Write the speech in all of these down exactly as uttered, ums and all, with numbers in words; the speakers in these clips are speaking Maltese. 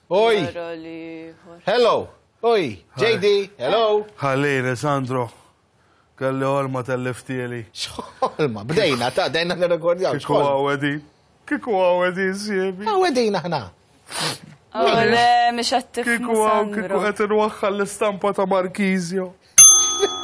Oj! Wara l-ieħor. Hello! Oj! J D, hello! Ħallini, Sandro. Kelli ħolma telliftieli. X'ħolma, bdejna, ta' dejna nirrekordjaw. Kieku għawedi. Kieku għawedi, siebi. Għawedina ħna. Oh, le, mhux qed tifhmu. Kieku għaw, kieku Sandro. qed inwaħħal l-istampa ta' Marchisio.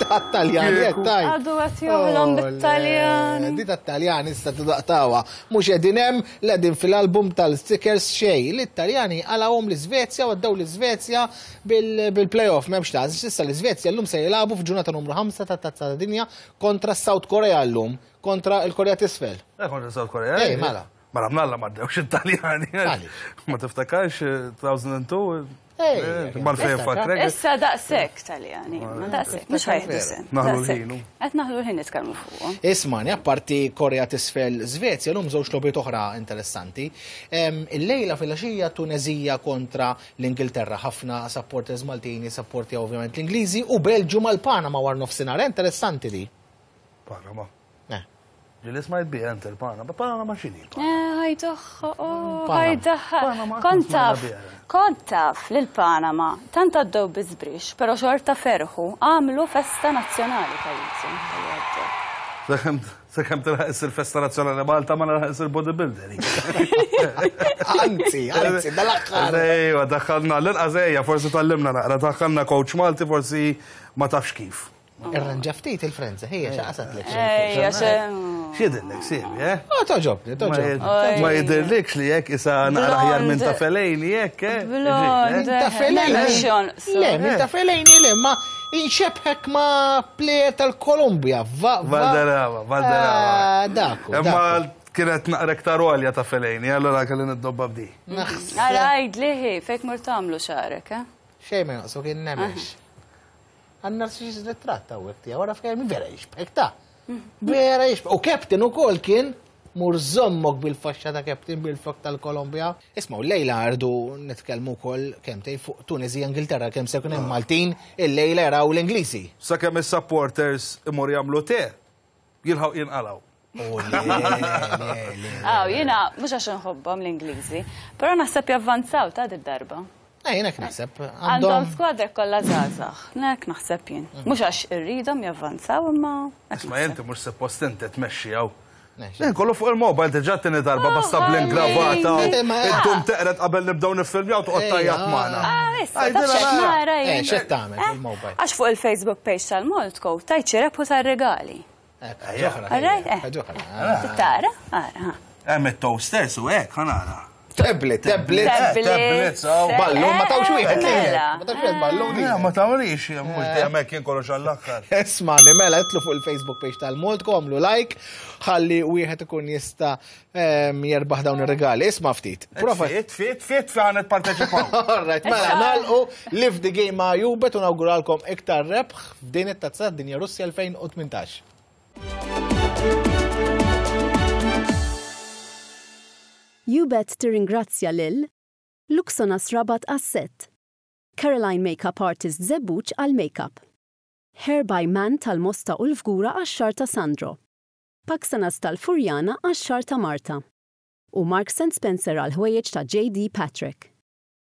Ta' Taljani, Kieku. tajt. Għadu qed joħlom bit-Taljani. Di ta' Taljani issa tidaqtawa. Mhux qegħdin hemm, l-qegħdin fil-album tal-stickers xej. L-Italjani għalawhom l-Iżvezja u għaddew l-Iżvezja bil-playoff m'hemmx ta' issa l-Iżvezja llum se jilagħbu f'ġurnata numru ħamsa ta' Tazza ta' Dinja kontra South Korea llum, kontra l-Korea t'Isfel. Eh, kontra South Korea. Ej, mela. Mela, mnalla ma ddewx Italjani. Għaliex? Ma tiftakarx eh, elfejn u tnejn? Ej, Mal-fejn niftakar. fakrek. Issa daqshekk Taljani, ma daqshekk, mhux ħa jieħdu sehem. Naħlu Daqshekk. l-ħin, hu. Qed naħlu l-ħin nitkellmu fuqhom. Ismani, apparti Korea t'Isfel Svezja, l-lum żewġ logħbiet oħra interessanti. Em, Il-lejla fil-għaxija Tunezija kontra l-Ingilterra, ħafna supporters Maltini, supporti ovvjament l-Ingliżi, u Belġu mal-Panama war nofsinhar, interessanti di. Panama. Eh. Ġili smajt bi ent il-Panama. Panama x'inhi? Eh, ħajdoħħa, oh, Panama. ħajdaħħa. Panama, Kont smajna taf, biha. kont taf lil Panama, tant għaddew biżbrix, però xorta ferħu, għamlu festa nazzjonali pajjiżhom. tal-li għaddew. Sakemm sakemm tilħaq il-festa nazzjonali Malta ma nilħaq il-bodybuilder. Anzi, anzi, dal-aħħar. Ejwa, daħħalna l-inqas ejja, forsi tallimna naqra, daħħalna coach Malti, forsi ma tafx kif. Irranġa ftit il-frenza, ħija xaqasat lek. Ejja, xe. X'jidhirlek, siebi, eh? Ah, toġobni, Ma toġobni. jid- Ma jidirlikx li jekk isa naqra aħjar minn ta' Fellaini jekk, eh? Blond. Ta' Fellaini. Mhux jonqsu. Le, minn ta' Fellaini le, ma inxebħek ma' player tal-Kolumbja. Va, va. Valderrama, Valderrama. Ah, Daku, Imma daku. kienet naqra iktar għolja ta' Fellaini, allora kelli niddobba b'di. Naħseb. Ara għajd liħi, fejk mur tagħmlu xagħrek, eh? Xejn ma jonqsu kien nemex. Għanna xi ritratt hawnhekk tiegħu, wara fkemm vera jixbħek ta' vera jixbħek. U captain ukoll kien mur żommok bil-faxxa ta' captain bil-flok tal-Kolombja. Isma' u lejla rridu nitkellmu wkoll kemm tgħid fuq Tunezija Ingilterra kemm se jkun hemm Maltin il-lejla jaraw l-Ingliżi. Sakemm is-supporters imur jagħmlu te, jilħaw jinqalaw. Oh, le, le, le. Aw, jiena, mhux għax nħobbhom l-Ingliżi, però naħseb javvanzaw ta' darba. Eh, jiena naħseb Għandhom għandhom skwadra kollha żgħażagħ. Nek naħseb jien. Mhux għax irridhom javvanzaw imma hekk Isma' naħseb. inti mhux suppost inti tmexxi hawn. Ne, Kollu fuq il-mobile diġà tieni darba basta Oh, bl-ingravata. ħalli. Ma- Iddum teqret qabel nibdew niffilmjaw toqgħod Ejja. tajjat magħna. Ah, issa, Għajdilha taf x'qed nara. nara Eh, jien. x'qed tagħmel Eh, fil-mobile? Għax fuq il-Facebook page tal-Maltco tajt xi rebħu tar-regali. Hekk, ġoħra. Alright, eh. ġoħra. Tara? Ara, ha. Hemm it-toasters u hekk ħa nara. Tablet, tablet. Tablets, tablets, aw. Ballun, ma tawx wieħed Mela. lilek. Ma tawx wieħed ballun Le, lilek. ma tawrix, mhux dejjem hekk jien kollox għall-aħħar. Ismani, mela, itlu fuq il-Facebook page tal-Maltco, għamlu like, ħalli wieħed ikun jista em, jerbaħ dawn ir-regali. Isma' ftit. Prova. Fit, fit, fit fi għanet parteċipaw. Alright, mela, nagħlqu Live the Game ma' Youbet u nawguralkom iktar rebħ f'din it-tazza dinja Russja elfejn u tmintax. Youbet tirringrazzja lil Luxonas Rabat Asset, Caroline Makeup Artist Żebbuġ għal Makeup, Hair by Man tal-Mosta u l-Fgura għax-xagħar ta' Sandro, Paxanas tal-Furjana għax-xagħar ta' Marta u Marks and Spencer għal ħwejjeġ ta' J D. Patrick.